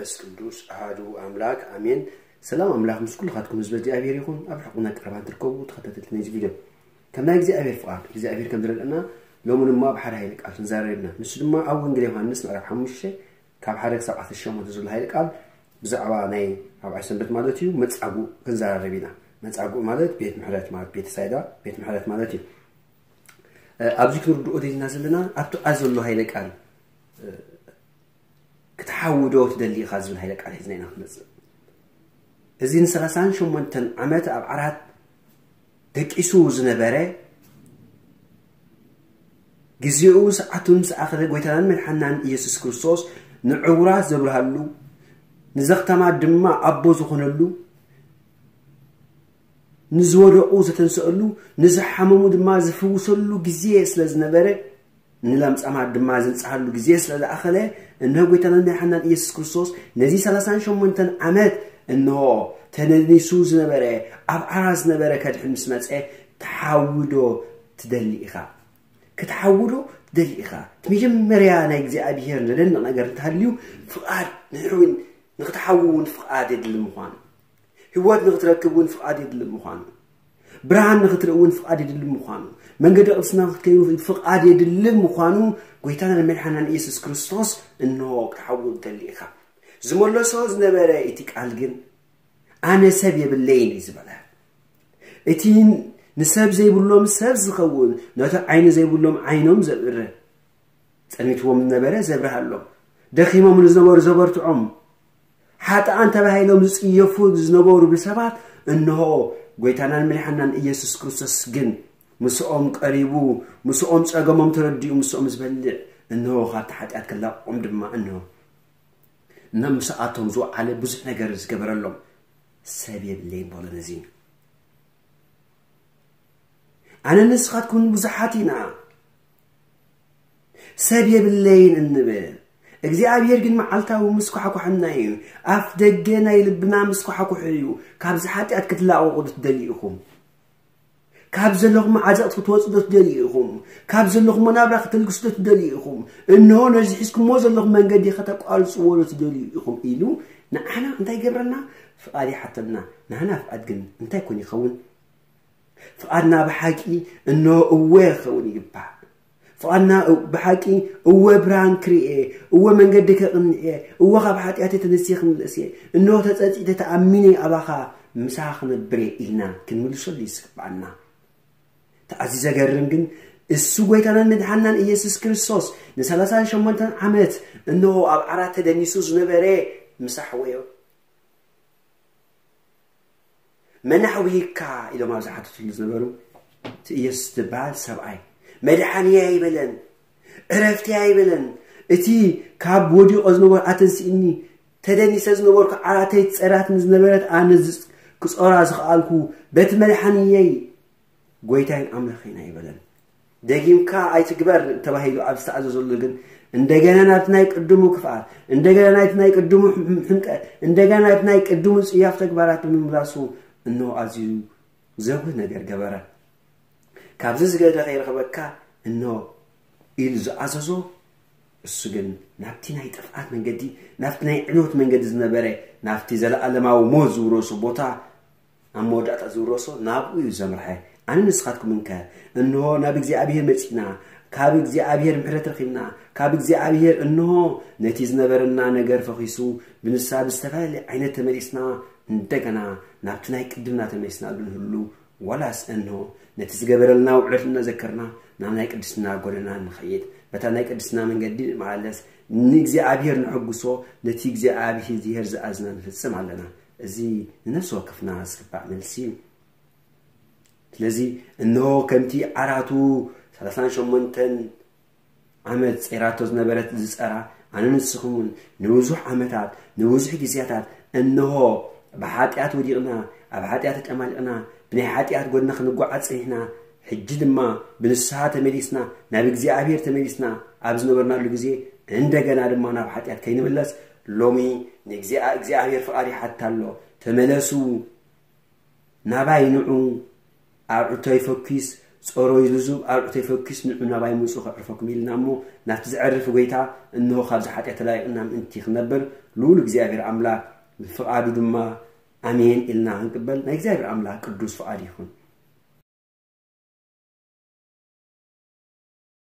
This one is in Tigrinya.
መንፈስ ቅዱስ ኣሃዱ ኣምላክ ኣሜን። ሰላም ኣምላክ ምስ ኩልኻትኩም ህዝበ እግዚኣብሔር ይኹን። ኣብ ርሑቕን ኣብ ቀረባን ትርከቡ ተኸታተልቲ ናይዚ ቪድዮ፣ ከም ናይ እግዚኣብሔር ፍቓድ እግዚኣብሔር ከም ዝረድአና ሎሚ ድማ ኣብ ሓደ ሃይለ ቃል ክንዛረብ ኢና። ንሱ ድማ ኣብ ወንጌል ዮሃንስ ምዕራፍ ሓሙሽተ ካብ ሓደ ክሳብ ዓሰርተ ሸሞንተ ዘሎ ሃይለ ቃል ብዛዕባ ናይ ራብዓይ ሰንበት ማለት እዩ መጻጉእ ክንዛረብ ኢና። መጻጉእ ማለት ቤት ምሕረት ማለት ቤተ ሳይዳ ቤት ምሕረት ማለት እዩ። ኣብዚ ክንርድኦ ደሊና ዘለና ኣብቲ ቃል ዘሎ ሃይለ ቃል ክትሓዊ ዶ ትደሊ ኢኻ ዝብል ሃይለ ቃል ሒዝና ኢና ክንመጽእ። እዚ ንሰላሳን ሸሞንተን ዓመት ኣብ ዓራት ደቂሱ ዝነበረ፣ ግዜኡ ሰዓቱ ምስ ኣኸለ ጎይታናን መድሓናን ኢየሱስ ክርስቶስ ንዕውራት ዘብርሃሉ፣ ንዘኽታማት ድማ ኣቦ ዝኾነሉ፣ ንዝወደቑ ዘተንሰአሉ፣ ንዝሓመሙ ድማ ዝፍውሰሉ ግዜ ስለ ዝነበረ፣ ንለምጻማት ድማ ዝንጽሃሉ ግዜ ስለ ዝኣኸለ፣ እነሆ ጎይታናን መድሓናን ኢየሱስ ክርስቶስ ነዚ ሰላሳን ሸሞንተን ዓመት እነሆ ተነኒሱ ዝነበረ፣ ኣብ ዓራት ዝነበረ ከድሕን ምስ መጸ፣ ትሓዊ ዶ ትደሊ ኢኻ? ክትሓዊ ዶ ትደሊ ኢኻ? እቲ መጀመርያ ናይ እግዚኣብሔር ዘደንቕ ነገር እንተሃልዩ፣ ፍቓድ ንሕና እውን ንክትሓዊ እውን ፍቓድ የድሊ ምዃኑ፣ ህይወት ንክትረክብ እውን ፍቓድ የድሊ ምዃኑ፣ ብርሃን ንክትርኢ እውን ፍቓድ የድሊ ምዃኑ፣ መንገዲ ቅድስና ንክትከይዱ ፍቓድ የድሊ ምዃኑ፣ ጎይታና መድሓናን ኢየሱስ ክርስቶስ እንሆ ክትሓዊ ትደሊ ኢኻ። ዝመለሶ ዝነበረ እቲ ቃል ግን ኣነ ሰብ የብለይን እዩ ዝበለ። እቲ ንሰብ ዘይብሎም ሰብ ዝኸውን፣ ነቲ ዓይኒ ዘይብሎም ዓይኖም ዘብርህ፣ ጸኒትዎም ዝነበረ ዘብርሃሎም፣ ደኺሞም ንዝነበሩ ዘበርትዖም፣ ሓጥኣን ተባሂሎም ዝጽየፉ ዝነበሩ ብሰባት፣ እንሆ ጎይታናን መድሓናን ኢየሱስ ክርስቶስ ግን ምስኦም ቀሪቡ፣ ምስኦም ጸገሞም ተረዲኡ፣ ምስኦም ዝበልዕ፣ እንሆ ካብቲ ሓጢኣት ክላቕቖም ድማ፣ እንሆ ናብ ምሳኣቶም ዝወዓለ ብዙሕ ነገር ዝገበረሎም ሰብ የብለይን በሎ። ነዚ ኣነ ንስኻትኩምን ብዙሓት ኢና፣ ሰብ የብለይን እንብል። እግዚኣብሔር ግን መዓልታዊ ምስኳሕኳሕና እዩ። ኣፍ ደገ ናይ ልብና ምስኳሕኩሕ እዩ። ካብዚ ሓጢኣት ክትላቐቑ ዶ ትደልዩ ኢኹም? ካብ ዘለኹም ዓዘቕቲ ክትወፁ ዶ ትደልዩ ኢኹም? ካብ ዘለኹም መናብራ ክትልግሱ ዶ ትደልዩ ኢኹም? እንሆ ነዚ ሒዝኩሞ ዘለኹም መንገዲ ከተቋርፅዎ ዶ ትደልዩ ኢኹም? ኢሉ ንዓና እንታይ ይገብረና? ፍቓድ ይሓተና። ናህና ፍቓድ ግን እንታይ ኮን ይኸውን? ፍቓድና ብሓቂ እንሆ እወ ክኸውን ይግባእ። ፍቓድና እ- ብሓቂ እወ ብርሃን ክርእየ፣ እወ መንገዲ ከቕንዕየ፣ እወ ካብ ሓጢኣተይ ተነስየ ክምለስየ፣ እንሆ ተጸጺተ ተኣሚነ ኣባኻ ምሳኻ ክነብርየ ኢልና ክንምልሰሉ ይስግባና። ተኣዚ ዘገርም ግን እሱ ጎይታናን መድሓናን ኢየሱስ ክርስቶስ ንሰላሳን ሸሞንተን ዓመት እንሆ ኣብ ዓራት ተደኒሱ ዝነበረ ምሳሕወዮ። መን ኣሕዊካ ኢሎም ኣብ ዝሓተትሉ ዝነበሩ፣ እቲ ኢየሱስ ዝበሃል ሰብኣይ መድሓንየ ኣይበለን፣ ዕረፍትየ ኣይበለን። እቲ ካብ ወዲቆ ዝነበሩ ኣተንስእኒ፣ ተደኒሰ ዝነበርኩ ዓራተይ ጸራት ዝነበረት ኣነ ዝ- ክጾራ ዝኸኣልኩ በቲ መድሓንየይ ጎይታይን ኣምላኸይን ኣይበለን። ደጊምካ ኣይትግበር ተባሂሉ ኣብ ዝተኣዘዘሉ ግን እንደገና ናብቲ ናይ ቅድሙ ክፍኣት፣ እንደገና ናይቲ ናይ ቅድሙ ሕም- ሕምቀት፣ እንደገና ናብቲ ናይ ቅድሙ ጽያፍ ተግባራት ብምምላሱ እንሆ ኣዝዩ ዘጉህ ነገር ገበረ። ካብዚ ዝገደ ከይረኸበካ እንሆ ኢሉ ዝኣዘዞ፣ እሱ ግን ናብቲ ናይ ጥፍኣት መንገዲ፣ ናብቲ ናይ ዕንወት መንገዲ ዝነበረ፣ ናብቲ ዘለኣለማዊ ሞት ዝውረሶ ቦታ ኣብ መወዳእታ ዝውረሶ ናብኡ እዩ ዘምርሐ። ኣነ ንስኻትኩም እንከ እንሆ ናብ እግዚኣብሔር መጺእና፣ ካብ እግዚኣብሔር ምሕረት ረኺብና፣ ካብ እግዚኣብሔር እንሆ ነቲ ዝነበረና ነገር ፈኺሱ ብንስሓ ብዝተፈላለየ ዓይነት ተመሊስና እንደገና ናብቲ ናይ ቅድምና ተመሊስና ዶ ንህሉ፣ ዋላስ እንሆ ነቲ ዝገበረልና ውዕለት እናዘከርና ናብ ናይ ቅድስና ጎደና ንኸይድ፣ በታ ናይ ቅድስና መንገዲ ንመላለስ፣ ንእግዚኣብሔር ነሐጉሶ፣ ነቲ እግዚኣብሔር ዝኣዝና ንፍጽም ኣለና? እዚ ንነፍሲ ወከፍና ዝግባእ መልሲ እዩ። ስለዚ እንሆ ከምቲ ዓራቱ ሰላሳን ሸሞንተን ዓመት ጸይራቶ ዝነበረት ዝጸራ፣ ኣነ ንስኹም እውን ንብዙሕ ዓመታት ንብዙሕ ግዜያታት እንሆ ብሓጢኣት ወዲቕና፣ ኣብ ሓጢኣት ተጨማሊቕና፣ ብናይ ሓጢኣት ጎድና ክንጓዓዝ ጸኒሕና፣ ሕጂ ድማ ብንስሓ ተመሊስና፣ ናብ እግዚኣብሔር ተመሊስና ኣብ ዝነበርናሉ ግዜ እንደገና ድማ ናብ ሓጢኣት ከይንምለስ ሎሚ ንእግዚኣ እግዚኣብሔር ፍቓድ ይሓትት ኣሎ። ተመለሱ፣ ናባይ ንዑ፣ ኣዕሩተይ ፈኲስ፣ ጸሮይ ልዙብ ኣርዑተይ ፈኪስ ንዑ ናባይ ምጹ ከዕርፈኩም ኢልና እሞ ናብቲ ዘዕርፍ ጎይታ እንሆ ካብዚ ሓጢኣት ተላይቕና ምእንቲ ክንነብር ልኡል እግዚኣብሔር ኣምላክ ብፍቓዱ ድማ ኣሜን ኢልና ክንቅበል ናይ እግዚኣብሔር ኣምላክ ቅዱስ ፍቓድ ይኹን።